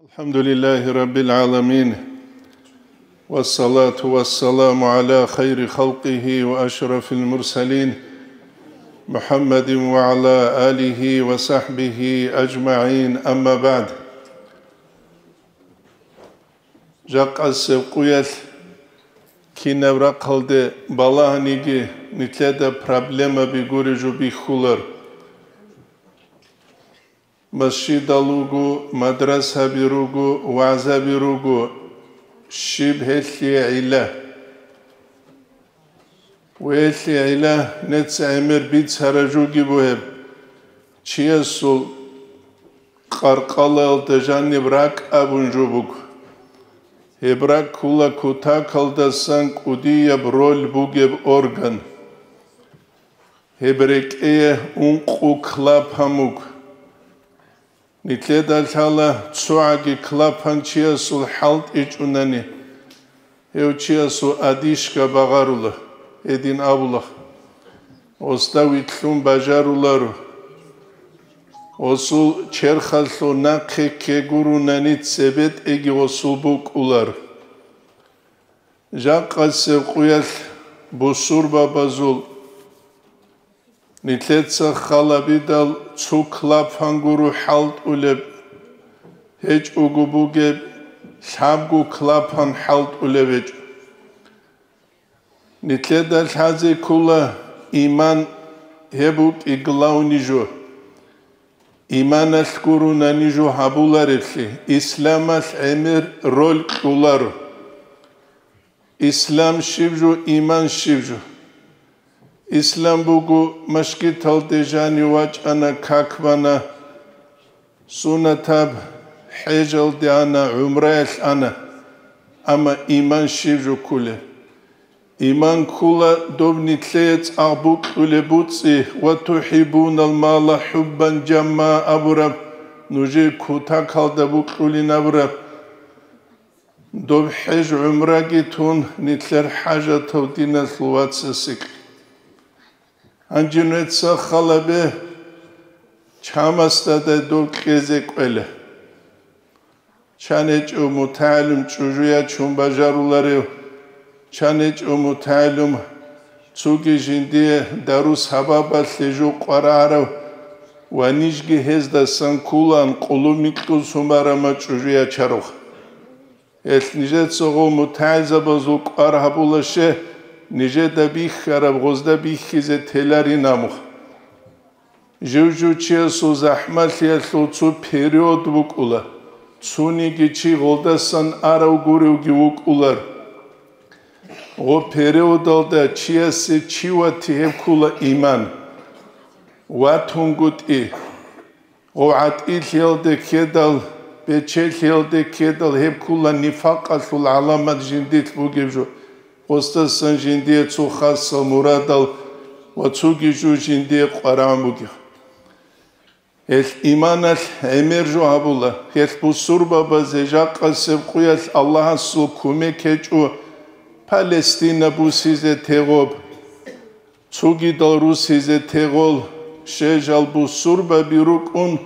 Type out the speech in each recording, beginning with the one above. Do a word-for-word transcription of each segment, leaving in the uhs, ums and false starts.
الحمد لله رب العالمين، والصلاة والسلام على خير خلقه وأشرف المرسلين، محمد وعلى آله وصحبه أجمعين، أما بعد. Жакъасеб къуялъ кинаб рахъалде балагьаниги, нилъеда проблемаби гуреб жо бихьулар. Масжидал руго, мадрасаби руго, вагӀзаби руго, щиб гьелъие гӀилла? Ва гьелъие гӀилла нецц гӀемер бицараб жоги бугеб, чиясул къаркъалаялда жаниб ракӀ абун жо буго. Гьеб ракӀ ккола кутакалдасан кӀудияб роль бугеб орган. Гьеб рекӀее ункъо клапан буго. Нилъеда лъала цогӀаги клапан чиясул хӀалтӀичӀунани, гьев чиясул одишка багъарула, гьедин абула. Гъосда вилълъун бажаруларо. Гъосул черхалъур нахъе кке гурунани цебетӀеги гъосул букӀулар. Жакъасеб къуялъ бусурбабазул нилъеца халабидал цо клапан гуро хӀалтӀулеб, гьечӀого бугеб, лъабго клапан хӀалтӀулеб гьечӀо. Нилъеда лъазе ккола иман, гьеб букӀи главный жо. Иманалъ гурунани жо гьабулареблъи, исламалъ гӀемер роль кьоларо. Ислам щиб жо, иман щиб жо? Ислам буго, машгиталде жанив вачӀана, как бана, сунатаб хӀежалде ана, гӀумраялъ ана, амма иман щиб жо кколеб? Иман ккола доб нилъее цӀакъ букьулеб буцӀи, «Ва тухӀиббунал мала хӀуббан жамма» абураб, нужее кутакалда букьулин абураб. Доб хӀеж-гӀумраги тун, нилъер хӀажатав диналъул вацасекь. Гьанже нуца халабе, чамасдадай доб кьезе кӀвела. Чан гьечӀо мутагӀилум чӀужу ячун бажаруларев, чан гьечӀо мутагӀилум цоги жиндие дарус гьабабалъе жо къварагӀарав ва нижги гьездасан кколаан къулумикьул сумарамал чӀужу ячарухъ. Гьелъ нижеца гъо мутагӀилзабазул кӀвар гьабулаще, нижеда бихьараб гъозда бихьизе теларин амухъ. Жив-жив чиясул захӀмалъиялъул цо период букӀула, цониги чи гъолдасан арав гуревги вукӀулар. Гъо периодалда чиясе чи вати гьеб ккула иман, ватунгутӀи. Гъо гӀатӀилъиялде ккедал, бечелъиялде ккедал гьеб ккула нифакъалъул гӀаламат жиндилъ бугеб жо, гъосдасан жиндие цо хасал мурадал ва цоги жо жиндие къварагӀун бугеб. Гьелъ иманалъ гӀемер жо гьабула, гьелъ бусурбабазе жакъасеб къуялъ Аллагьасул кумек гьечӀо Палестина бусизе тегъоб. Цогидал русизе тегъол, щежал бусурбаби рукӀун,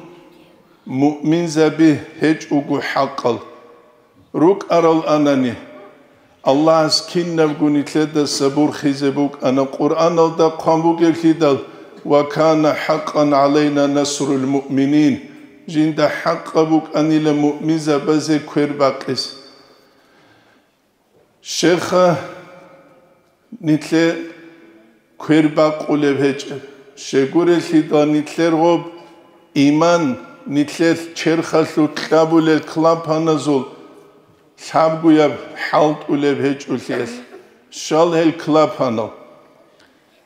муъминзаби гьечӀого хӀакъал. РукӀарал анани, Аллагьас кинабго нилъеда сабур хизе букӀана Къуръаналда хъван бугеблъидал: «Ва кана хӀакъан гӀалайна насрул муъминин», жинда хӀакъаб букӀанила муъминзабазе квер бакъизе. Щеха, нилъе квер бакъулеб гьечӀеб. Щегурелъидал нилъер гъоб иман, нилъелъ черхалъулъ кьабулел клапаназул лъабгояб хӀалтӀулеб гьечӀолъиялъ, щал гьел клапанал.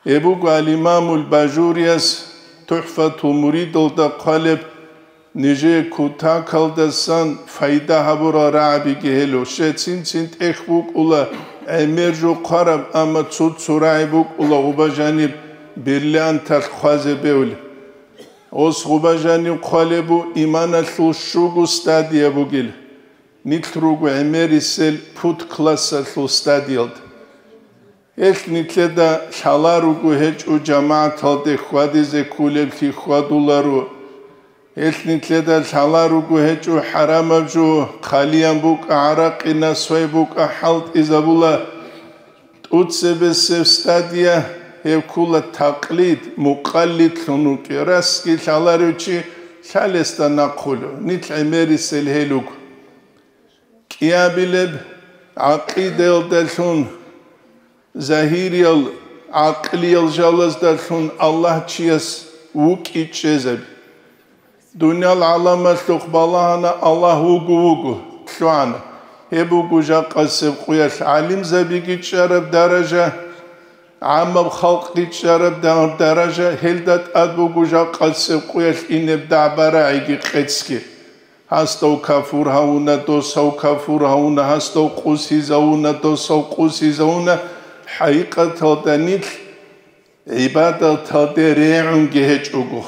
Гьеб буго ал-Имамул Бажурияс ТухӀфатул муридалда хъвалеб, нижее кутакалдасан пайда гьабурал рагӀабиги гьело. Щецин-цин тӀехь букӀула гӀемер жо хъвараб, амма цо-цо рагӀи букӀула гъуба жаниб бриллианталъ хъвазе бевли. Ос гъуба жанив хъвалеб бу иманалъул щуго стадия бугел. Нилъ руго гӀемерисел пуд классалъул стадиялда. Гьелъ нилъеда лъала руго гьечӀо жамагӀаталде хьвадизе кколеблъи хьвадуларо. Гьелъ нилъеда лъаларуго гьечӀо хӀарамаб жо, хъалиян букӀа гӀаракъи, насвай букӀа хӀалтӀизабула. ТӀуцебесеб стадия гьеб ккула такълид, мукъаллидлъун вукӀи, расги лъаларев чи лъалесда нахъулев, нилъ гӀемерисел гьел руго. КӀиабилеб гӀакъидаялдалъун, загьириял гӀакълиял жалаздалъун Аллагь чияс вукӀи чӀезаби. Дуниял гӀаламалъухъ балагьана Аллагь вуго-вуго, лъугӀана. Гьеб буго жакъасеб къуялъ гӀалимзабиги чӀараб даража, гӀаммаб халкъги чӀараб да-, даража, гьелда тӀад буго жакъасеб къуялъ инеб дагӀба-рагӀиги къецги. Гьасдав кафур гьавуна, досав кафур гьавуна, гьасдав къусизавуна, досав къусизавуна, хӀакъикъаталда нилъ гӀибадаталде регӀунги гьечӀого.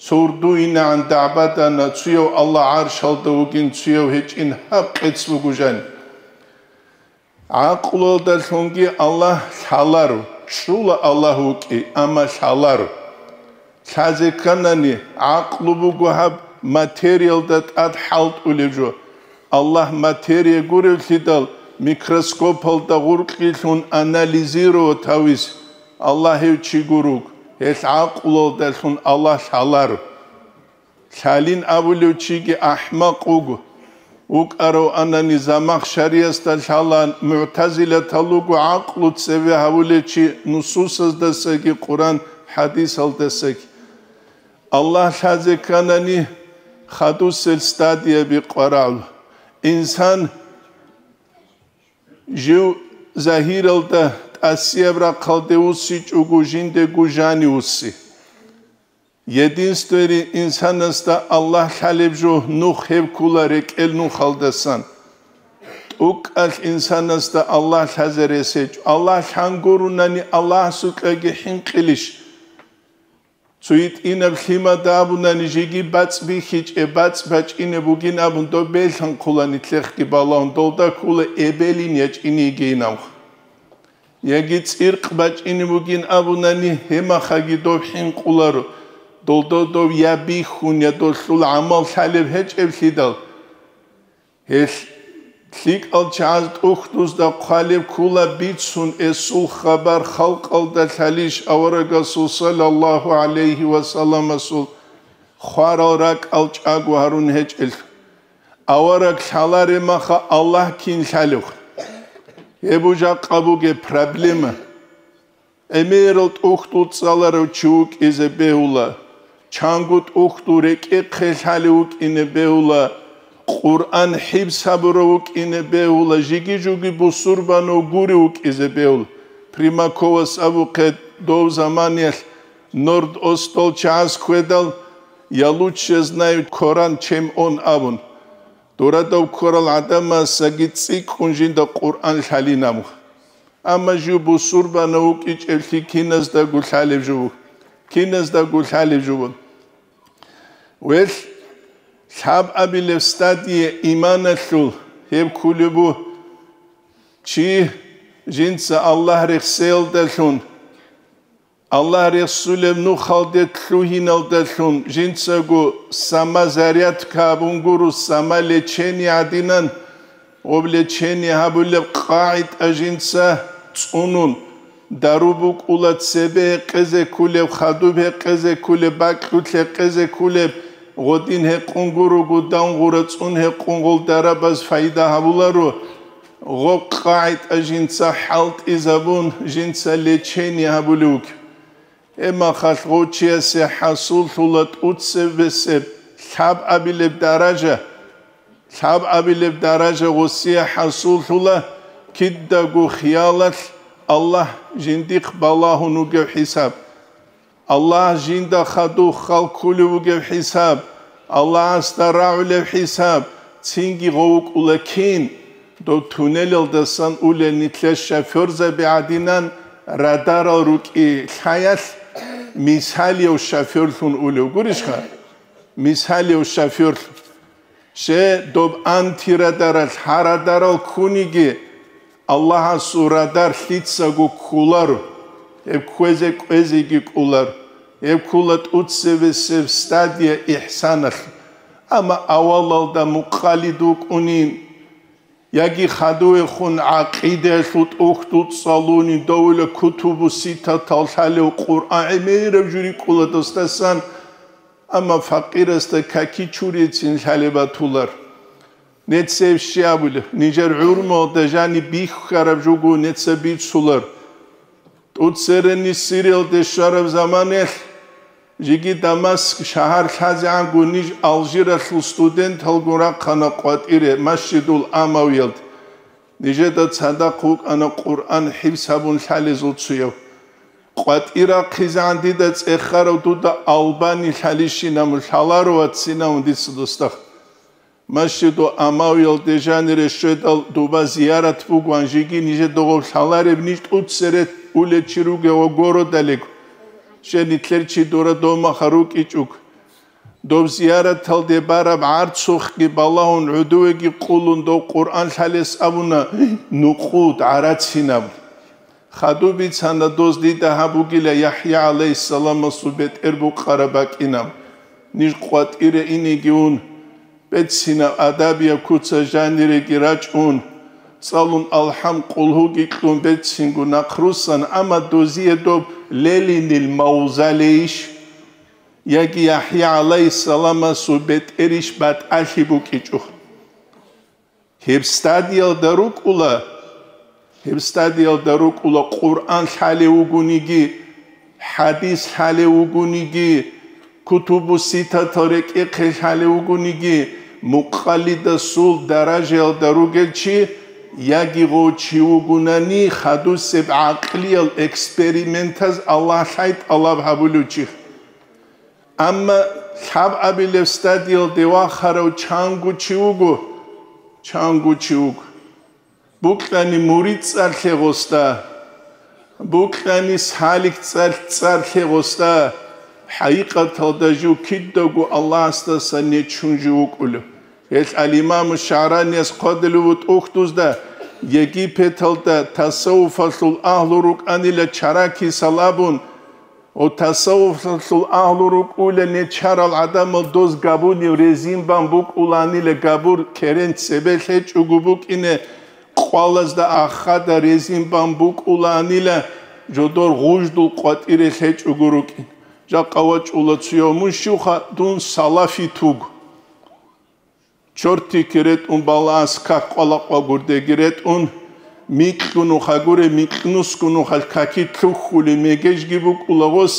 Сордо инегӀан дагӀбадана, цуяв Аллагь гӀаршалда вугин, цуяв гьечӀин, гьаб къец буго жани. ГӀакълуялдалъунги Аллагь лъаларо, чӀула Аллагь вукӀи, амма лъаларо. Лъазе кканани, гӀакълу буго гьаб материялда тӀад хӀалтӀулеб жо. Аллагь материя гуревлъидал, микроскопалда гъуркьилъун анализировать гьавис, Аллагь гьев чи гуруг, гьелъ гӀакълуялдалъун Аллагь лъаларо. Лъалин абулев чиги ахӀмакъ вуго. ВукӀарав анани Замахшариясда лъала, мугӀтазилатал руго гӀакълу цеве гьавулев чи нусусаздасаги Къуран хӀадисалдасаги. Аллагь лъазе кканани хадусел стадияби къварагӀула. Инсан жив загьиралда тӀасияб рахъалде вуссичӀого жиндего жани вусси. Единствери инсанасда Аллагь лъалеб жо нух гьеб ккула рекӀел нухалдасан. ТӀукӀалъ инсанасда Аллагь лъазе рес гьечӀо. Аллагь лъан гурунани Аллагьасукьаги хӀинкъилищ? Цо гьитӀинаб лъимада абунани жеги бацӀ бихьичӀеб, бацӀ бачӀине бугин абун доб белъанхъулани лъехги балагьун, долда ккула эбелин ячӀине йигейин абун. Яги цӀиркъ бачӀине бугин абунани, гьемахаги доб хӀинкъуларо, долдо дов я бихьун, я долъул гӀамал лъалеб гьечӀеблъидал. Гьелъ лъикӀал чагӀаз тӀухьдузда хъвалеб ккула бицун эсул хабар халкъалда лъалищ аварагасул саллаллагьу гӀалайгьи ва салламасул хварал ракӀал чӀаго гьарун гьечӀелъ. Авараг лъаларе маха Аллагь кин лъалев? Гьеб жакъа бугеб проблема. ГӀемерал тӀухьдул цӀаларав чи вукӀизе бегьула, чанго тӀухьдул рекӀехъе лъалев вукӀине бегьула, Къуръан хӀибс гьабурав вукӀине бегьула, жиги-жуги бусурбанав гурев вукӀизе бегьула. Примаковас абухъе дов заманиялъ Норд-Остал чагӀаз хьведал, «Я лучше знаю Коран, чем он», абун. Дорадав ккарал гӀадамасаги цӀикӀкӀун жинда Къуръан лъалин абу. Амма жив бусурбанав вукӀичӀеблъи киназдаго лъалеб жо буго. Киназдаго лъалеб жо буго. Велъ, лъабабилеб стадие иманалъул гьеб кколеб буго, чи жинца Аллагь рехсеялдалъун, Аллагь рехсулеб нухалде лъугьиналдалъун жинцаго самозарядка абун гуро, самолечение гӀадинан, гъоб лечение гьабулеб къагӀида жинца цӀунун, дару букӀула цебе гьекъезе кколеб, хадуб гьекъезе кколеб, бакьулъ гьекъезе кколеб, гъодин гьекъун гурого, давгъура цӀун гьекъун гъол дарабаз пайда гьабуларо. Гъоб къагӀида жинца хӀалтӀизабун, жинца лечение гьабулев вугев. Гьеб махалъ гъов чиясе хӀасуллъула тӀуцебесеб лъабабилеб даража, лъабабилеб даража гъосие хӀасуллъула кидаго хиялалъ Аллагь жиндихъ балагьун вугев хӀисаб. Аллагь жинда хадув хал ккулев вугев хӀисаб, Аллагьасда рагӀулев хӀисаб, цинги гъов вукӀула кин, дов туннелалдасан улел нилъер шофёрзаби гӀадинан радарал рукӀи лъаялъ, мисалияв шофёрлъун улев гурищха? Мисалияв шофёрлъун. Ще доб антирадаралъ гьа радарал ккуниги, Аллагьасул радар лъицаго кколаро, гьеб кквезе кӀвезеги кӀоларо. Гьеб ккола тӀоцебесеб стадия ихсаналъ. Амма авалалда мукъалид вукӀунин, яги хадувехун гӀакъидаялъул тӀухьдул цӀалуни, довила кутубу ситатал лъалев Къуръан гӀемераб жури ккола досдасан, амма факъирасда каки чурецин лъалеб батулар. Нецев щи абулеб, нижер гӀурмалда жаниб бихьараб жуго неца бицулар. ТӀуцерени Сириялде щвараб заманаялъ, жеги Дамаск шагьар лъазегӀанго ниж Алжиралъул студенталгун рахъана къватӀире Масжидул Амавиялд. Нижеда цадахъ вукӀана Къуръан хӀифз гьабун лъалезул цояв. КъватӀир рахъизегӀан дида цӀехарав дуда Албани лъалищинав лъаларо вацинав дица досдахъ. Масжиду Амавиялде жанире щведал дуба зиярат бугоан жеги нижеда гъов лъалареб ниж тӀуцере улечи ругев ва городалиго. Щай нилъер чи дора домаха рукӀичӀуг. Доб зияраталде бараб гӀарцухъги балагьун гӀодовеги къулун дов Къуръан лъалес абуна нукъуд гӀарацинаб. Хадуб бицана доз дида гьаб бугила ЯхӀя гӀалайгьиссаламасул бетӀер букъараб бакӀинаб. Ниж къватӀире инеги ун, бецинаб адабияб куца жаниреги рачӀун, цӀалун алхӀам къулгьуги кьун бецинго нахърусан, амма дозие доб лелинил мавзалейищ, яги ЯхӀя гӀалайгьиссаламасул бетӀерищ батӀалъи букӀичӀо. Гьеб стадиялда рукӀула, гьеб стадиялда рукӀула Къуръан лъалев вугониги, хӀадис лъалев вугониги, кутубу ситатал рекӀехъе лъалев вугониги, мукъалидасул даражаялда ругел чи, яги гъов чи вугунани хадусеб гӀакълиял экспериментаз Аллагь лъай тӀалаб гьабулев чи. Амма лъабабилеб стадиялде вахарав чанго чи вуго, чанго чи вуго. Букьани мурид цӀар лъе гъосда, букьани салик цӀар, цӀар лъе гъосда, хӀакъикъаталда жив кидаго Аллагьасдаса нечун жив вукӀулев. Гьелъ ал-Имаму ШагӀранияс хъвадулев вуго тӀухьдузда, Египеталда тасаввуфалъул агьлу рукӀанила чара кисал абун, Ва тасаввуфалъул агьлу рукӀула нечарал гӀадамал доз габунив резин бан букӀуланила габур керен цебе лъечӀого букӀине, къвалазда ахада резин бан букӀуланила жодор гъуждул къватӀире лъечӀого рукӀин. Жакъа вачӀула цуяв мун щивха дун салафит вуго. Чортике ретӀун балагьас как къвалакъвагурдеги ретӀун, микьгун ухагуре микьнусгун ухал каки лъухьулеб мегежги букӀула гъос,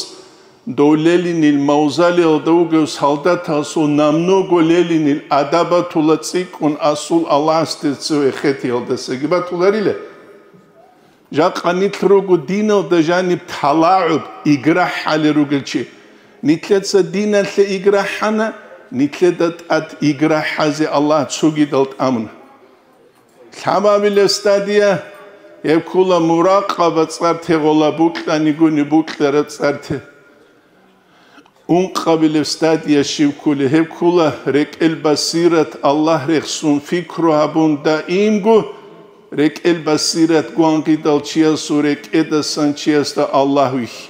дов лелинил мавзалиялда вугев солдатасул намного лелинил адабатула цӀикӀкӀун асул Аллагьасде цеве хетиялдасаги батуларила. Жакъа нилъ руго диналда жаниб талагӀуб, игра хӀалел ругел чи. Нилъеца диналъе игра хӀана, нилъеда тӀад игра хӀазе Аллагь цогидал тӀамуна. Лъабабилеб стадия, гьеб ккола муракъаба цӀар тегъола букьанигуни букьара цӀар те. Ункъабилеб стадия щиб кколеб, гьеб ккола рекӀел басират Аллагь рехсун пикру гьабун даимго, рекӀел басират гвангъидал чиясул рекӀедасан чиясда Аллагь вихьи.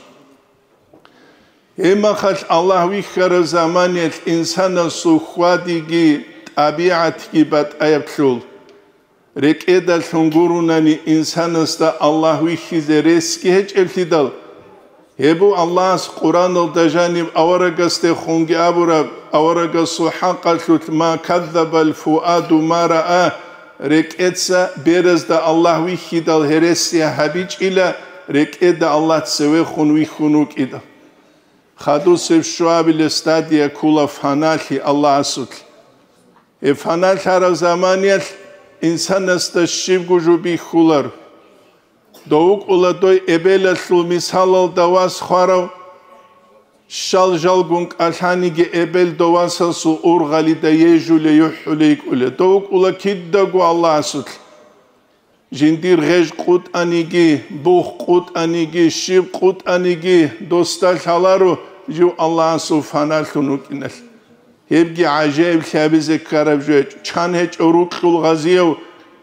Гьебмахалъ Аллагь вихьараб заманиялъ инсанасул хьвадиги тӀабигӀатги батӀаяб лъул. РекӀедалъун гурунани инсанасда Аллагь вихьизе ресги гьечӀеблъидал, гьеб буго Аллагьас Къуръаналда жаниб аварагасдехунги абураб, аварагасул хӀакъалъулъ: «Ма каззабал фуаду ма раа», рекӀеца беразда Аллагь вихьидал гьересия гьабичӀила, рекӀеда Аллагь цевехун вихьун вукӀидал. Хадусеб щуабилеб стадия ккола фаналъи Аллагьасулъ. Гьеб фаналъараб заманиялъ инсанасда щибго жо бихьулар. Дов вукӀула дой эбелалъул мисалалда вас хварав, щал жалгун кӀалъаниги эбел дов васасул ургъалида ежулей, юхӀулей йикӀулей. Дов вукӀула кидаго Аллагьасулъ. Жиндир гъеж къутӀаниги, бух къутӀаниги, щиб къутӀаниги, досда лъаларо жив Аллагьасул фаналъун вукӀиналъ. Гьебги гӀажаиблъи гьабизе ккараб жо гьечӀо. Чан гьечӀо рукьул гъазияв,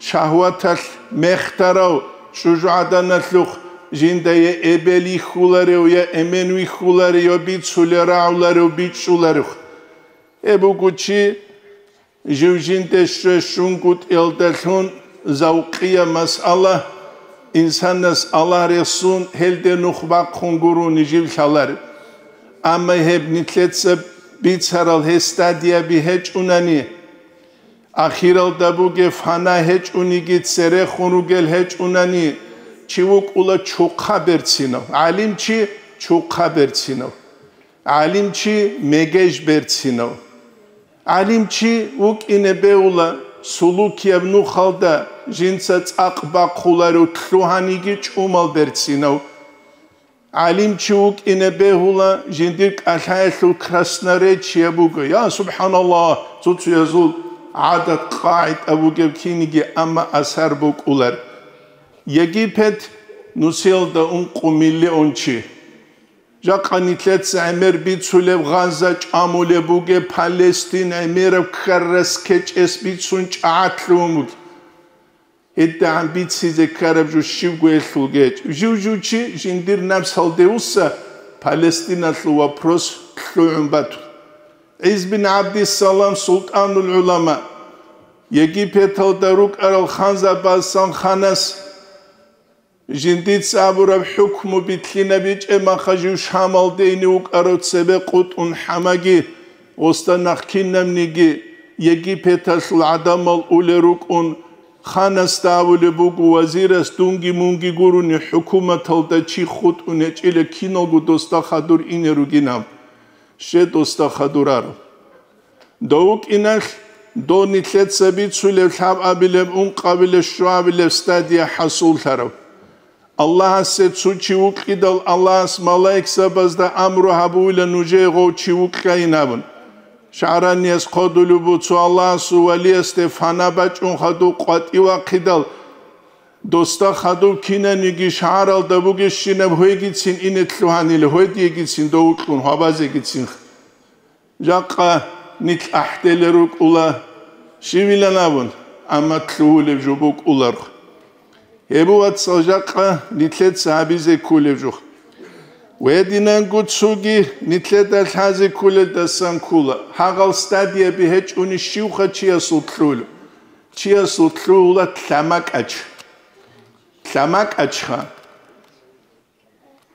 шагьваталъ мехтарав, чӀужугӀаданалъухъ жинда я эбел йихьуларев, я эмен вихьуларев, я бицулев, рагӀуларев, бичӀчӀуларев. Гьеб буго чи жив жинде щве щунгутӀиялдалъун завкъияб масъала, инсанас Аллагь рехсун, гьелде нух бахъун гурони жив лъалареб. Амма гьеб нилъеца бицарал гьес стадияби гьечӀунани, ахиралда бугеб фана гьечӀониги церехун ругел гьечӀунани, чи вукӀула чухъа берцинав, гӀалимчи чухъа берцинав, гӀалимчи мегеж берцинав. ГӀалимчи вукӀине бегьула сулукияб нухалда жинца цӀакъ бахъуларев лъугьаниги чӀумал берцинав. ГӀалимчи вукӀине бегьула жиндир кӀалъаялъул красноречие буго. Я, субхӀаналлагь, цо-цоязул гӀадат-къагӀида бугеб киниги, амма асар букӀулар. Египет нусиялда ункъо миллион чи. Жакъа нилъеца гӀемер бицулеб Газа чӀамулеб бугеб Палестин гӀемераб ккарас кечӀес бицун чӀагӀатлъун бугеб. ГьедигӀан бицизе ккараб жо щибго гьелъул гьечӀ. Жив-жив чи жиндир напсалде вуса Палестиналъул вопрос лъугӀун батун. ГӀиз бин ГӀабдиссалам, султӀанул гӀулама, Египеталда рукӀарал ханзабазсан ханас жиндица абураб хӀукму битлъинабичӀеб маха жив Шамалде ине вукӀарав цебе къутӀун хӀамаги, гъосда нахъ кинабниги Египеталъул гӀадамал улел рукӀун, ханасда абулеб буго вазирас, дунги-мунги гурони хӀукуматалда чи хутӀун гьечӀила, киналго досда хадур ине ругинаб, щай досда хадур араб. Дов вукӀиналъ, дов нилъеца бицулеб лъабабилеб, ункъабилеб, щуабилеб стадия хӀасуллъараб. Аллагьасе цо чи вукьидал, Аллагьас малаикзабазда амру гьабуила нужее гъов чи вукьайин абун. ШагӀранияс хъодулеб буго цо Аллагьасул валиясде фана бачӀун хадув къватӀив вахъидал, досда хадув кинаниги шагьаралда бугебщинаб гьвегицин ине лъугьанила, гьведиегицин дов вукьун, гьабазегицин. Жакъа нилъ ахӀделел рукӀула, щивилан абун, амма лъугьулеб жо букӀуларго. Гьеб, вацал, жакъа нилъеца гьабизе кколеб жо. Гьединанго цоги нилъеда лъазе кколелдасан ккола, гьагъал стадияби гьечӀони щивха чиясул лъугьулеб? Чиясул лъугьула лъамакӀач. ЛъамакӀачха.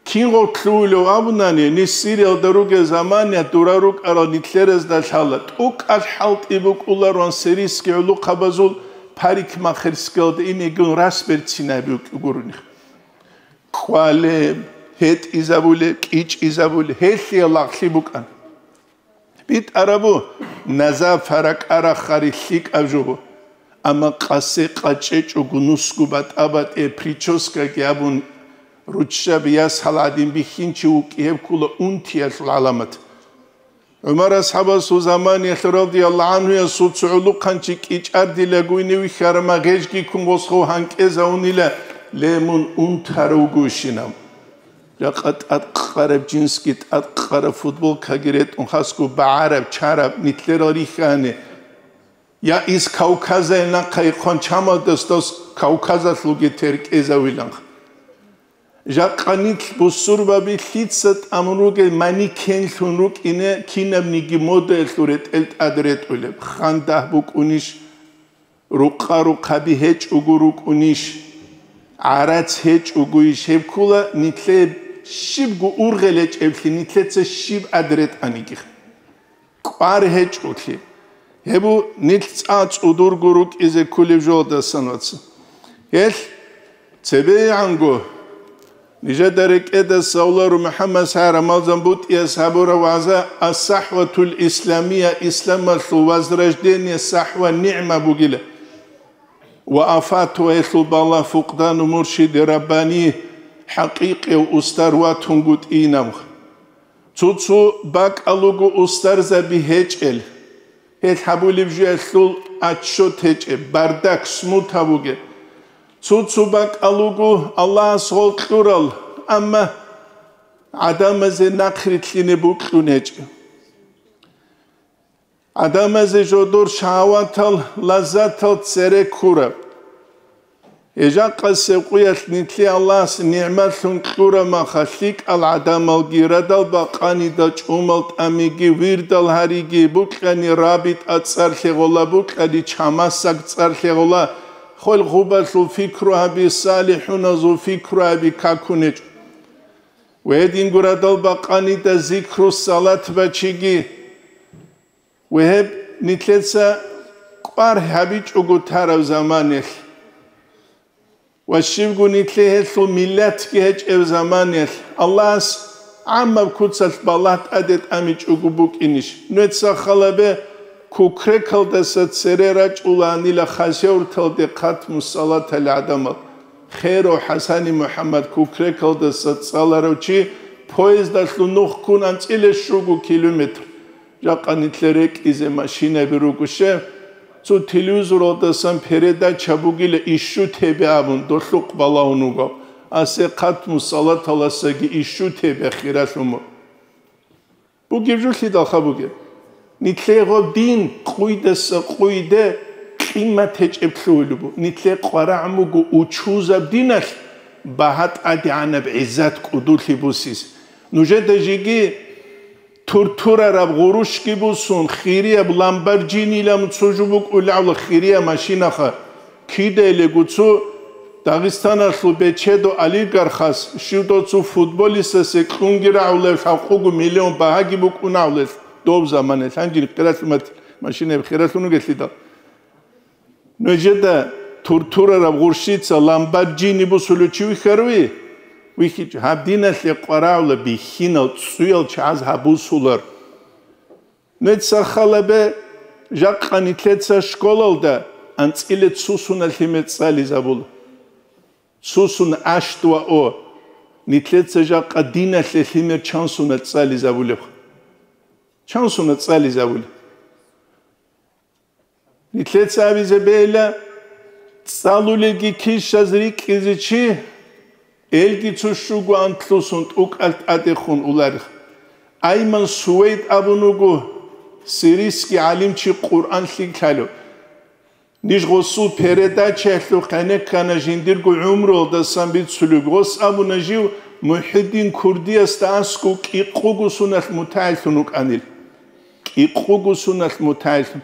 Кинго лъугьулев абунани, ниж Сириялда ругел замания дура рукӀарал нилъеразда лъала, тӀокӀаб хӀалтӀи букӀулароан сирийский гӀулухъабазул парикмахерскиялда инегун рас берцинаб гурони. КӀвалеб, гьетӀизабулеб, кӀичӀизабулеб, гьелъие лагълъи букӀана. БитӀарабу, наза фаракъарахъари лъикӀаб жо бу. Амма къасе къачӀечӀого нусго батӀа-батӀе прическаги абун, руччаби ясал гӀадин бихьинчи вукӀи, гьеб ккола унтиялъул гӀаламат. ГӀумар асхӀабасул заманиялъ радияллагьу гӀанхуясул цо гӀулухъанчи кӀичӀардилаго ине вихьарама гъежги ккун гъосхъо гьанкӀезавунила, ле, мун унтарав вугевщинав. Жакъа тӀадкъараб джинсги, тӀадкъараб футболкаги ретӀун, хасго багӀараб, чараб, нилъерал рихьани. Я из Кавказай нахъа ихъван чамалдас дос Кавказалъулги теркӀезавиланха. Жакъа нилъ бусурбаби лъица тӀамун ругел манекенлъун рукӀине кинабниги модаялъул ретӀел тӀад ретӀулеб, хандагь букӀунищ, рукъа-рухъаби гьечӀого рукӀунищ, гӀарац гьечӀогойищ, гьеб ккола нилъее щибго ургъел гьечӀеблъи, нилъеца щиб тӀад ретӀаниги. КӀвар гьечӀолъи. Гьеб бу нилъ цӀа цӀудурго рукӀизе кколеб жолдасан, вацал. Гьелъ цебегӀанго нижеда рекӀеда савлару МухӀаммад СагӀид Рамазан БутӀияс гьабураб вагӀза «Ас-сахӀватул исламия», исламалъул возрождение, сахӀва нигӀма бугила. Ва афату, гьелъул балагь, фукъдану муршиди раббани, хӀакъикъияв устар ватунгутӀинаб. Цо-цо бакӀалуго устарзаби гьечӀел, гьел гьабулеб жуялъул отчет гьечӀеб, бардак, смута бугеб. Цо-цо бакӀалуго Аллагьас гъол кьурал, амма гӀадамазе нахърилълъине бокьун гьечӀеб. ГӀадамазе жодор шагьаватал, лаззатал цере ккураб. Гьежа къасеб къуялъ нилъе Аллагьас нигӀматлъун кьурамаха, лъикӀал гӀадамалги, радал бакъанида чӀумал тӀамиги, вирдал гьариги, букьани рабитӀа цӀар лъегъола, букьани чамасаг цӀар лъегъола, хвел гъубалъул пикру гьаби, салихӀуназул пикру гьаби какунечӀо. Ва гьединго радал бакъанида зикру салат бачиги, ва гьеб нилъеца кӀвар гьабичӀого тарав заманалъ, ва щибго нилъее гьелъул миллатги гьечӀев заманалъ, Аллагьас гӀаммаб куцалъ балагь тӀаде тӀамичӀого букӀинищ? Нужеца халабе, Кукрекалдаса цере рачӀулаанила Хасавюрталде хатму салатал гӀадамал. Херов ХӀасани МухӀаммад Кукрекалдаса цӀаларав чи поездалъул нух ккун анцӀила щуго километр. Жакъа нилъер рекӀизе машинаби руго щай, цо телевизоралдасан передача бугила ищу тебе абун, долъухъ балагьун вуго. Асе хатму салаталасаги ищу тебе хиралъун вуго. Бугеб жо лъидалха бугеб? Нилъее гъоб дин къуйдаса къуйде къимат гьечӀеб лъугьулеб буго. Нилъее къварагӀун буго учузаб диналъ багьа тӀадегӀанаб гӀиззат кӀудулъи бусизе. Нужеда жеги туртурараб гъурущги бусун, хирияб Ламборджинилан цо жо букӀулевла хирияб машинаха. Кидаялего цо Дагъистаналъул бечедо олигархас, щивдо цо футболистасе кьунги рагӀулел лъабкъого миллион багьаги букӀунагӀулел доб заманалъ, гьанжин хиралъумат машинаяб хиралъун вугелъидал. Нужеда туртурараб гъурщица Ламборджини бусулев чи вихьаруй? ВихьичӀо. Гьаб диналъе къварагӀула бихьинал цӀуял чагӀаз гьаб бусулар. Нуца халабе, жакъа нилъеца школалда анцӀила цусуна лъимер цӀализабула. Цусун ашт ва о. Нилъеца жакъа диналъе лъимер чансуна цӀализабулеб? Чансуна цӀализабулеб? Нилъеца абизе бейла, цӀалулелги килщаз рикӀкӀизе чи, элги цо щуго антлъусун тӀукӀалъ тӀадехун уларих. Айман Сувейд абун вуго, сирийский гӀалимчи, Къуръан лъикӀ лъалев. Ниж гъосул передачаялъул къенеккана жиндирго гӀумруялдасан бицулеб. Гъос абуна жив МухӀиддин Курдиясда аскӀов кӀикъого суналъ мутагӀиллъун вукӀанил. КӀикъого суналъ мутагӀиллъун.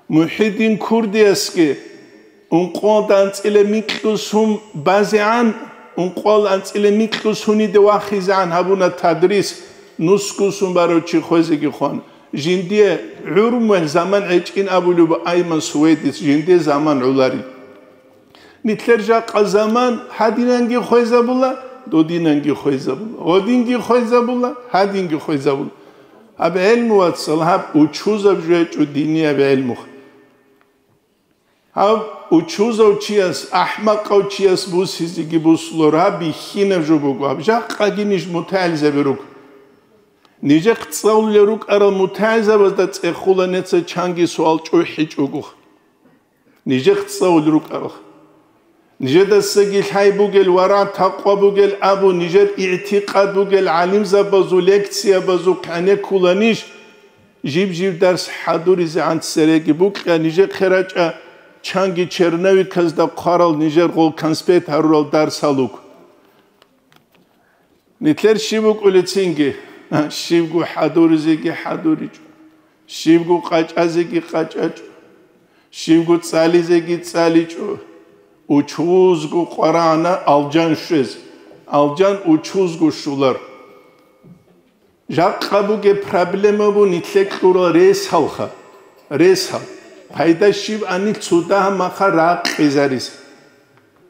МухӀиддин Курдиясги ункъоялда анцӀила микьго сун базегӀан, ункъоялда анцӀила микьго суниде вахизегӀан гьабуна тадрис, нусго сун барав чи хвезеги хвана. Жиндие гӀурмуял заман гӀечӀин абулеб Айман Сувейдис, жиндие заман гӀоларин. Нилъер жакъа заман гьадинанги хвезабула, додинанги хвезабула, гъодинги хвезабула, гьадинги хвезабула. Гьаб гӀелму, вацал, гьаб учузаб жо гьечӀо, динияб гӀелму. Гьаб учузав чияс, ахӀмакъав чияс бусизеги бусулар, гьаб бихьинаб жо буго, гьаб жакъаги ниж мутагӀилзаби руго. Нижехъ цӀалулел рукӀарал мутагӀилзабазда цӀехула неца чанги суал чӀухӀичӀого. Нижехъ цӀалулел рукӀарал. Нижедасаги лъай бугел, варагӀ-такъва бугел абу, нижер игӀтикъад бугел гӀалимзабазул лекциябазухъ гӀенеккула ниж, жиб-жиб дарс хӀадуризегӀан цереги букьа, нижехъе рачӀа чанги черновиказда хъварал, нижер гъол конспект гьарурал дарсал руго. Нилъер щиб букӀулецинги, щибго хӀадуризеги хӀадуричӀо, щибго къачӀазеги къачӀачӀо, щибго цӀализеги цӀаличӀо, учузго къварагӀана алжан щвез, алжан учузго щулар. Жакъа бугеб проблема бу нилъе кьурал ресалха, ресал. Пайда щиб анил цо дагьа маха ракъизарис.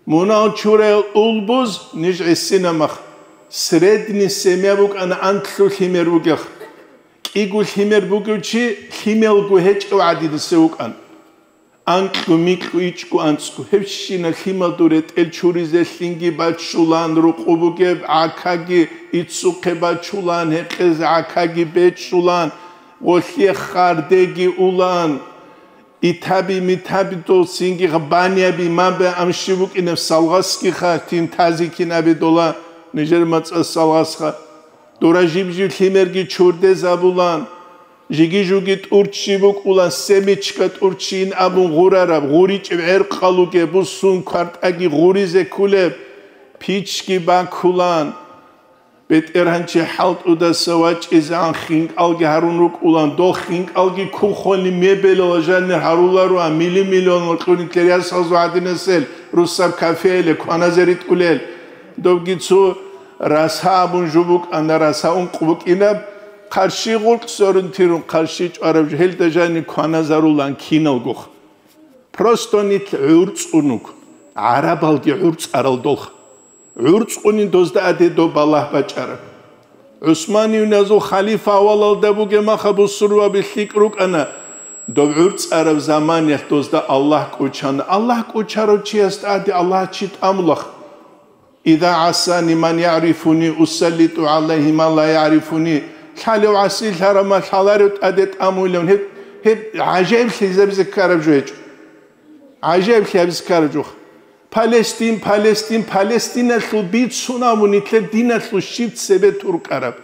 Мунагь чураял улбуз ниж гӀисинамах, средний семья букӀана анлъго лъимер бугех. КӀиго лъимер бугев чи лъималго гьечӀев гӀадинасев вукӀан. Анкьго, микьго, ичӀго, анцӀго. Гьебщинаб лъималдул ретӀел чуризе лъинги баччулан, рукъу бугеб гӀакаги иццухъе баччулан, гьекъезе гӀакаги бечӀчӀулан, гъолъие хардеги улан. Итаби-митаби дол цинги баняби, маби, ам щиб букӀинеб салгъасгиха, тин тази кинаби дола нижер мацӀа салгъасха. Дора жиб-жиб лъимерги чурдезабулан, Жиги-жуги тӀурччи букӀула, семечка тӀурччийин абун гъурараб, гъуричӀеб гӀеркъал ругеб, бусун квартӀаги гъуризе кколеб, пичги баккулан. БетӀергьанчи хӀалтӀудаса вачӀизегӀан хинкӀалги гьарун рукӀулан, дол хинкӀалги кухонни мебелала жанир гьарулароан, мили-миллионал кьуни ккел ясазул гьадинасел, русаб кафеяле кваназе ритӀулел. Добги цо раса абун жо букӀана, раса ункъ букӀинаб, хъарщи гъуркь сорун тирун, хъарщи чӀвараб жо, гьелда жанир кваназарулан киналгох. Просто нилъ гӀурцӀун руго, гӀарабалги гӀурцӀарал долха. ГӀурцӀунин дозда аде доб балагь бачӀараб. ГӀусманиюназул халифа авалалда бугеб маха бусурбаби лъикӀ рукӀана, доб гӀурцӀараб заманиялъ дозда Аллагь кӀочана. Аллагь кӀочарав чиясда аде Аллагь чи тӀамулах. «Иза гӀасани ман ягӀрифуни, усаллиту гӀалайгьи ман ла ягӀрифуни». Лъалев гӀасилъарав ма лъаларев тӀаде тӀамуйлан, гьеб, гьеб гӀажаиблъи гьабизе ккараб жо гьечӀо. ГӀажаиблъи гьабизе ккараб жо. Палестин, Палестин, Палестиналъул бицун абун нилъер диналъул щиб цебе туркӀараб.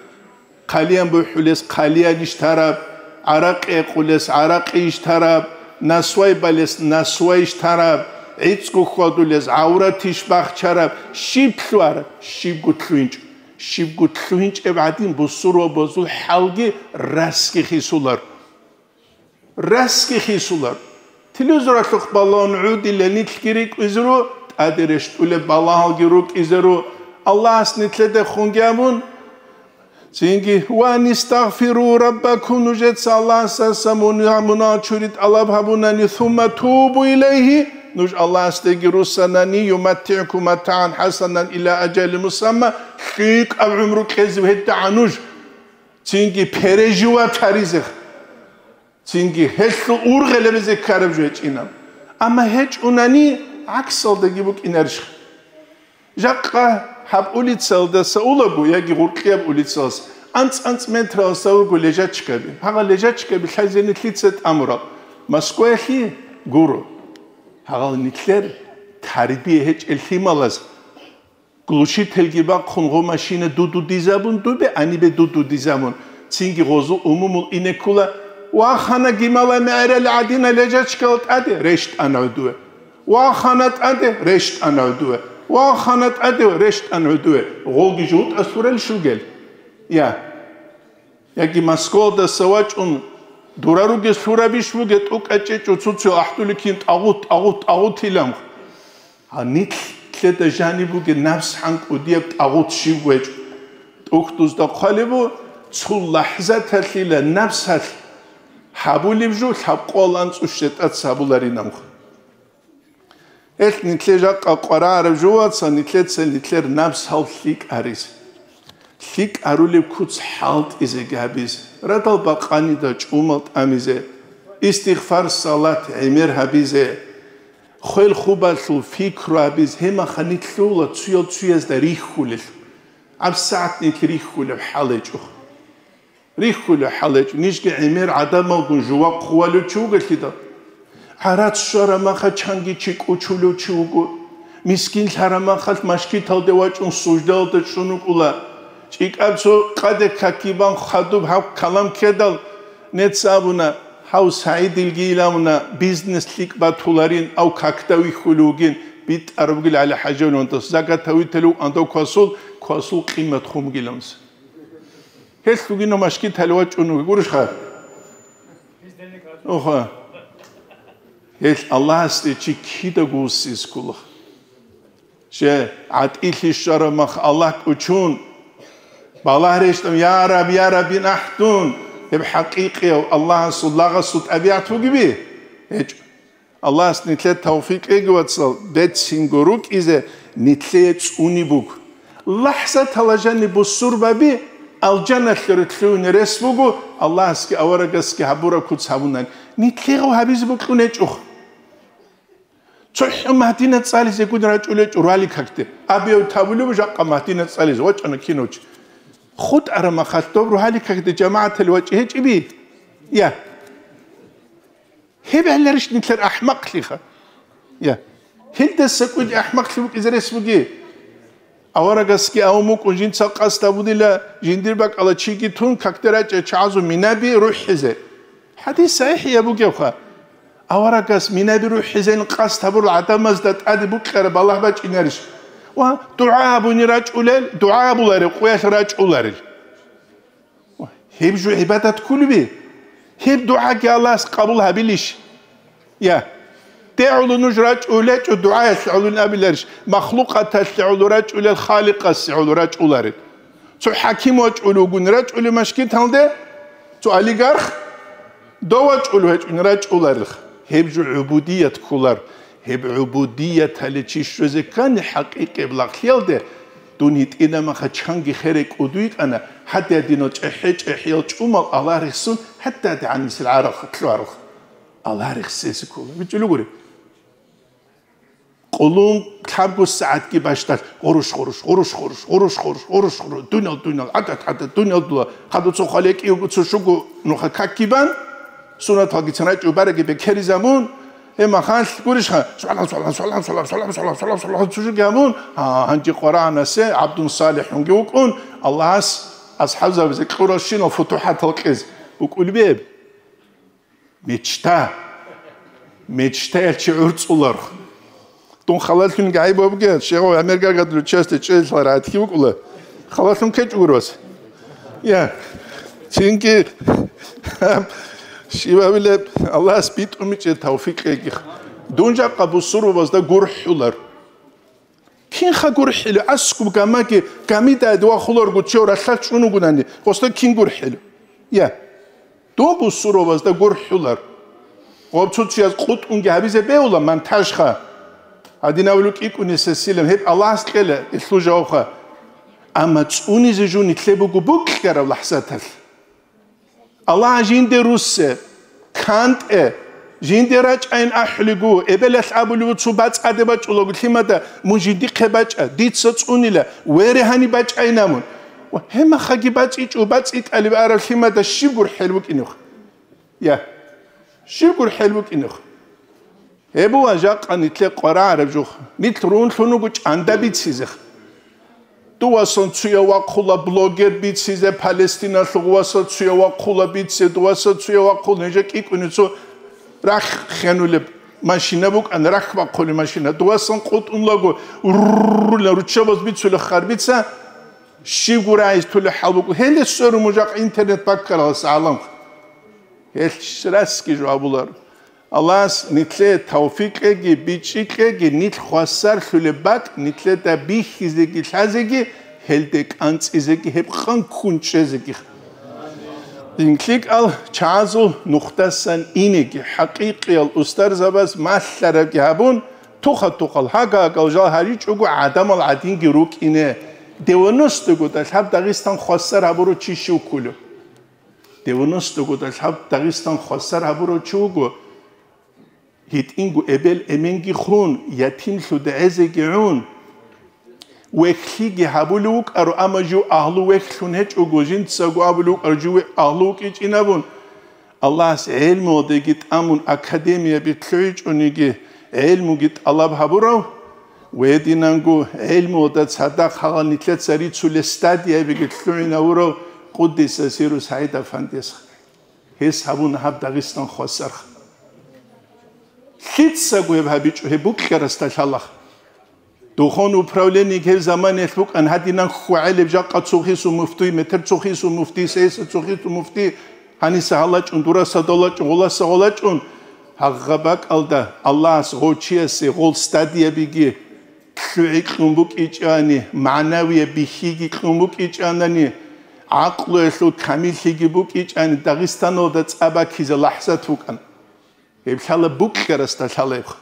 Хъалиян бухӀулес хъалиянищ тараб, гӀаракъи гьекъулес гӀаракъийищ тараб, насвай балес насвайищ тараб, гӀицӀго хьвадулес гӀавратищ бахчараб, щиб лъугьараб, щибго лъугьинчӀо. Щибго лъугьинчӀеб гӀадин бусурбабазул хӀалги расги хисулар. Расги хисулар. Телевизоралъухъ балагьун гӀодила нилъги рикӀкӀизару, тӀаде рещтӀулеб балагьалги рукӀизару, Аллагьас нилъеда хунги абун, цинги, «Ва анистагъфиру раббакум», нужеца Аллагьасдаса муна-, мунагь чури тӀалаб гьабунани, «сумма тубу илайгьи», нуж Аллагьасдеги руссанани, «юматтигӀкум матагӀан хӀасанан ила ажали мусамма», лъикӀаб гӀумру кьезе гьедагӀа нуж, цинги переживать гьаризе. Цинги гьелъул ургъел гьабизе ккараб жо гьечӀинаб. Амма гьечӀунани гӀаксалдаги букӀинарищха? Жакъа гьаб улицалдаса улаго яги гъуркьияб улицалас анцӀ-анцӀ метраласа вуго лежачкаби. Гьагъа лежачкаби лъазени лъица тӀамурал? Москваялъе гуро. Гьагъал нилъер тарбия гьечӀел лъималаз Глушительги бахъун гъо машина дудудизабун, дубе анибе дудудизабун, цинги гъозул умумул инеккула, вахана гимала мегӀерал гӀадина лежачкал тӀаде, рещтӀана гӀодове. Вахана тӀаде, рещтӀана гӀодове. Вахана тӀаде, рещтӀана гӀодове. Гъолги жугьутӀа лъурал шугел. Я. Яги Москвалдаса вачӀун, дура ругес лъурабищ бугеб, тӀукӀа чӀечӀо цуцо ахӀдуликин тӀагъут, тӀагъут, тӀагъут илан. Гьанилъеда жаниб бугеб напс гьанкӀудияб тӀагъут щиб гьечӀо. ТӀухьдузда хъвалеб бу, цо лахӀзаталъила напсалъ гьабулеб жо лъабкъоялда анцӀу щетӀаца гьабуларинамха. Гьелъ нилъе жакъа къварагӀараб жо, вацал, нилъеца нилъер напсал лъикӀ гьаризе. ЛъикӀ гьарулеб куц хӀалтӀизеги гьабизе, радал бакъанида чӀумал тӀамизе, истигъфар, салат, гӀемер гьабизе, хвел-хубалъул пикру гьабизе, гьеб мехалъ нилъ лъугьула цуял-цуязда рихьулел. ГьабсагӀат нилъ рихьулеб хӀал гьечӀо. Рихьулеб хӀал гьечӀо, нижги гӀемер гӀадамалгун жувахъ хъувалев чи вугелъидал. ГӀарац щвараб мехалъ чанги чи кӀочулев чи вуго. Мискин лъараб мехалъ мажгиталде вачӀун суждалда чӀун вукӀула. ЧӀикӀаб цо къаде какги бан хадуб гьаб калам ккедал, нецц абуна, гьав СагӀидилги илан абуна, бизнес лъикӀ батуларин, ав какда вихьулев вугин, битӀараб бугил ГӀали-ХӀажи Валиевас, закат гьавиталев вугин дов квасул, квасул къимат хун бугилан. Гьелъ вугин мажгиталде вачӀун вуго, гурищха? Оха. Гьелъ Аллагьасде чи кидаго вуссизе ккола. Че гӀатӀилъи щвараб мехалъ Аллагь кӀочун, балагь рещтӀун, «Я Раб, я Раб», ин ахӀдун, гьеб хӀакъикъияв Аллагьасул лагъасул тӀабигӀат бугеби? ГьечӀо. Аллагьас нилъер тавфикъ кьеги, вацал, берцинго рукӀизе нилъее цӀуни буго. ЛахӀзаталда жаниб бусурбаби алжаналъе рилълъуни рес буго, Аллагьасги аварагасги гьабураб куц гьабунани. Нилъее гьабизе бокьун гьечӀо. ЦохӀо Магьдина цӀализе гун рачӀунев чи ралли какде. Абияв тавулев жакъа Магьдина цӀализе вачӀана кинав чи. ХутӀараб мехалъ доб рогьалил какде жамагӀаталде вачӀи гьечӀеби? Я. Гьеб гьаларищ нилъер ахӀмакълъиха? Я. Гьелдаса кӀуди ахӀмакълъи букӀизе рес бугеб? Аварагасги авун букӀун жинца къасд гьабунила, жиндир бакӀала чиги тун, какде рачӀа чагӀазул минаби рухӀизе. ХӀадис сахӀихӀ бугебха. Аварагас минаби рухӀизейин къасд гьабурал гӀадамазда тӀаде букьараб балагь бачӀинарищ? Ва дугӀа гьабуни рачӀулел, дугӀа гьабуларел къуялъ рачӀуларел. Гьеб жо гӀибадат кколеби? Гьеб дугӀаги Аллагьас къабул гьабилищ? Я. Де гӀоло нуж рачӀулечӀо дугӀаялъе гӀоло абиларищ? Махлукъаталъе гӀоло рачӀулел Халикъасе гӀоло рачӀуларел. Цо хӀаким вачӀулев вугони рачӀулев машгиталде, цо олигарх, дов вачӀулев гьечӀони рачӀуларелха. Гьеб жо гӀубудият кколар. Гьеб гӀубудияталде чи щвезе ккани хӀакъикъияб лагълъиялде, дун гьитӀинаб маха чанги херай кӀуду йикӀана, гьадин-гьадинал чӀехӀе-чӀехӀиял чӀумал Аллагь рехсон, гьадин-гьадин гӀанисел гӀарал лъугьарал. Аллагь рехсезе ккола. БичӀчӀулев гури. Къулун лъабго сагӀатги бащдалъ гъурущ-гъурущ, гъурущ-гъурущ, гъурущ-гъурущ, гъурущ-гъурущ, дунял-дунял, гӀадат-гӀадат, дунял-дунял, хадуцо хваликӀиего цо щуго нуха какги бан, суннаталги цо рачӀу бараги бекеризабун, гьеб махалъ гурищха, салам, салам, салам, салам, салам, салам, салам, салам, цо щуги гьабун, гьа, гьанже Къуръанасе гӀабдун салихӀунги вукӀун, Аллагьас асхӀабзабазе кьуралщинал футухӀатал кьез букӀулеб гьеб. Мечта. Мечтаял чи гӀурцӀулар. Дун халалъунги гӀайиб бугеб, щегъов гӀемер гагадулев части чӀезлъал рагӀатги букӀула. Халалъун ккечӀо гур вас. Я. Цинги щибабилеб Аллагьас битӀумичӀеб тавфикъ кьеги. Дун жакъа бусурбабазда гурхӀулар. Кинха гурхӀила, аскӀуб гамаги, гамида вахуларго чев ралъдал чӀун вугунани, гъосда кин гурхӀила? Я. Доб бусурбабазда гурхӀулар. Гъоб цо-цояз къутӀунги гьабизе бегьула монтажха. Гьадинав лукӀикӀунесесилан гьеб Аллагьас кьела илъул жавабха. Амма цӀунизе жо нилъе буго букьараб лахӀзаталъ. Аллагь жинде руссе, кантӀе, жинде рачӀайин ахӀулего, эбелалъ абулев цо бацӀаде бачӀулаго лъимада, мун жиндихъе бачӀа, дица цӀунила, вере гьаниб бачӀайина мун. Ва гьемахаги бацӀичӀо, бацӀи тӀалиб араб лъимада щиб гурхӀел букӀинех? Я, щиб гурхӀел букӀинех? Гьеб буго жакъа нилъе къварагӀараб жух. Нилъ рунлъун руго чӀанда бицизех. Дувасан цуя вахъула блогер бицизе, Палестиналъув васа цуя вахъула бице, дуваса цуя вахъула, нижа кӀикӀуни цо рахъ хенулеб машина букӀан, рахъ бахъулеб машина. Дувасан къутӀунлаго руррулан руччабаз бицула харбица, щиб гурайиз тула хӀал букӀу. Гьеле сверу мужахъ интернет баккаралас гӀалам. Гьелъ расги жо абулар. Аллагьас нилъе тавфикъ кьеги, бичӀчӀи кьеги, нилъ хвасарлъулеб бакӀ нилъеда бихьизеги лъазеги, гьелде кӀанцӀизеги, гьеб къан ккун чӀезеги. ДинлъикӀал чагӀазул нухдасан инеги, хӀакъикъиял устарзабаз малъарабги гьабун, туха-тухал, гьага-гьагал жал гьаричӀого гӀадамал гӀадинги рукӀине. Девяностого далъаб Дагъистан хвасар гьабурав чи щив кколев? Девяностого далъаб Дагъистан хвасар гьабурав чи вуго, гьитӀинго эбел-эменги хун, ятимлъун гӀезеги гӀун, вехлъиги гьабулев вукӀаро, амма жив агьлу вехлъун гьечӀого, жинцаго абулев вукӀаро, жив агьлу вукӀичӀин абун, Аллагьас гӀелмуялдеги тӀамун, академияби лъугӀичӀониги гӀелмуги тӀалаб гьабурав, гьединанго гӀелмуялда цадахъ гьагъал нилъеца рицулел стадиябиги лъугӀинавурав Къуддиса Сиру СагӀид Афандияс. Гьес гьабуна гьаб Дагъистан хвасарха. Лъицаго гьеб гьабичӀо, гьеб букьарасда лъалаха. Духовный управлениеги гьеб заманиялъ букӀан, гьадинан хьвагӀелеб жакъа цохисул муфтий, метер цохисул муфтий, сеса цохисул муфтий, гьаниса гьалачӀун, дураса далачӀун, гъоласа гъолачӀун. Гьагъа бакӀалда Аллагьас гъов чиясе гъол стадиябиги лъугӀи кьун букӀичӀани, магӀнавияб бихьиги кьун букӀичӀанани, гӀакълуялъул камиллъиги букӀичӀани, Дагъистаналда цӀа баккизе лахӀзат букӀан. Гьеб лъала букьарасда лъалебха.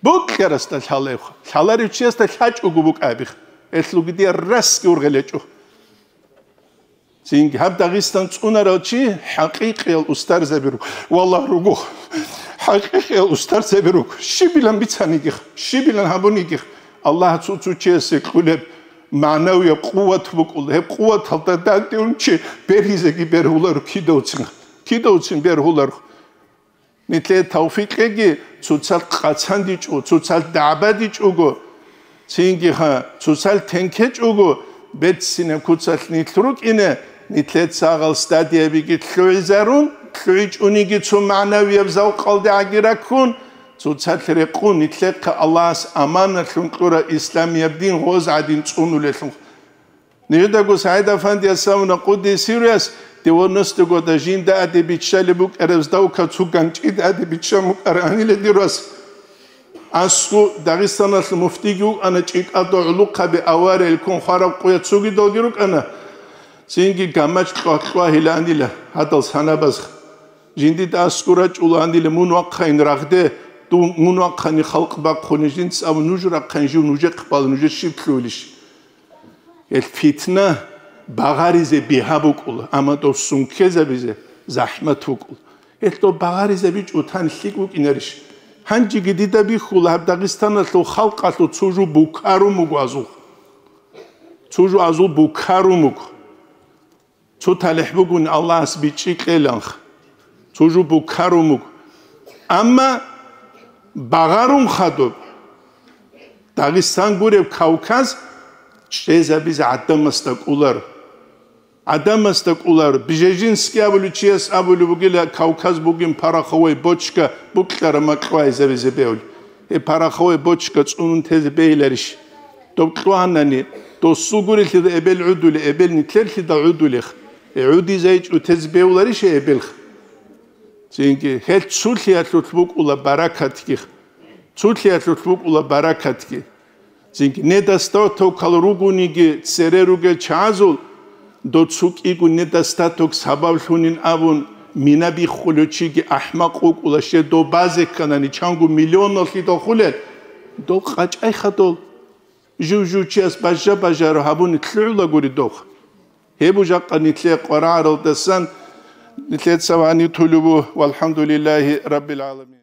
Букьарасда лъалебха. Лъаларев чиясда лъачӀого букӀабиха. Гьелъулги дие расги ургъел гьечӀо. Цинги гьаб Дагъистан цӀунарал чи хӀакъикъиял устарзаби руго. Валлагь, руго. ХӀакъикъиял устарзаби руго. Щибилан бицанигиха, щибилан гьабунигиха. Аллагь цо-цо чиясе кьулеб магӀнавияб къуват букӀула. Гьеб къуваталда дандеун чи бергьизеги бергьуларо кидавцин. Кидавцин бергьуларо. Нилъее тавфикъ кьеги, цоцалъ къацандичӀо, цоцалъ дагӀбадичӀого, Цинги ха, цоцал тенкечӀого, берцинаб куцалъ нилъ рукӀине, нилъеца гъал стадиябиги лъугӀизарун, лъугӀичӀониги цо магӀнавияб завкъалде гӀаги раккун, цоцалъ рекъун, нилъехъе Аллагьас аманалъун кьураб исламияб дин гъоз гӀадин цӀунулелъул. Нижедаго СагӀид Афандияс абуна, къуддиса сирругьу, девяносто года жинда гӀаде биччалеб букӀараб сдавка цо ганчӀида гӀаде биччан букӀаранила дир вас. АскӀу Дагъистаналъ муфтиги вукӀана, чӀикӀалда гӀулухъаби авариял ккун хвараб къуя цогидалги рукӀана. Цинги гамач кьвагь-кьвагьиланила гьадал санабазха. Жиндида аскӀу рачӀуланила, мун вахъайин рагъде, дун, мун вахъани халкъ бахъуни жинца абун, нуж рахъайин жив нужехъ бала, нужер щиб лъугьилищ? Гьел фитна багъаризе бигьа букӀула, амма дов сункезабизе захӀмат букӀула. Гьел дов багъаризабичӀо тан лъикӀ букӀинарищ? Гьанжеги дида бихьула гьаб Дагъистаналъул халкъалъул цо жо букарун буго азул. Цо жо азул букарун буго. Цо талихӀ бугони Аллагьас бичӀчӀи кьеланха. Цо жо букарун буго. Амма багъарун хадуб. Дагъистан гуреб Кавказ чӀезабизе гӀадамасда кӀоларо. ГӀадамасда кӀоларо. Бжежинский абулев чияс абулеб бугила, Кавказ бугин пороховой бочка букьараб макьвайзабизе бегьули. Гьеб пороховой бочка цӀунун тезе бегьиларищ? Доб кьванани, досул гурелъида эбел гӀудуле, эбел нилъерлъида гӀудулех. Э, гӀудизайчӀо тезе бегьуларищ эбелх? Цинги, гьел цулъиялъулъ букӀула баракатги. Цулъиялъулъ букӀула баракатги. Цинги, недостатокал ругониги цере ругел чагӀазул, дов цо кӀиго недостаток сабаблъунин абун, мина биххулев чиги ахӀмакъ вукӀула, щай дов базе кканани, чанго миллионаллъидал хулел, дов къачӀай хадув. Жив-жив чияс бажа-бажаро гьабуни лъугӀулагури дов. Гьеб жакъа нилъее къварагӀаралдасан нилъеца ванитулеб буго, валхӀамдулиллагьи раббил гӀаламин.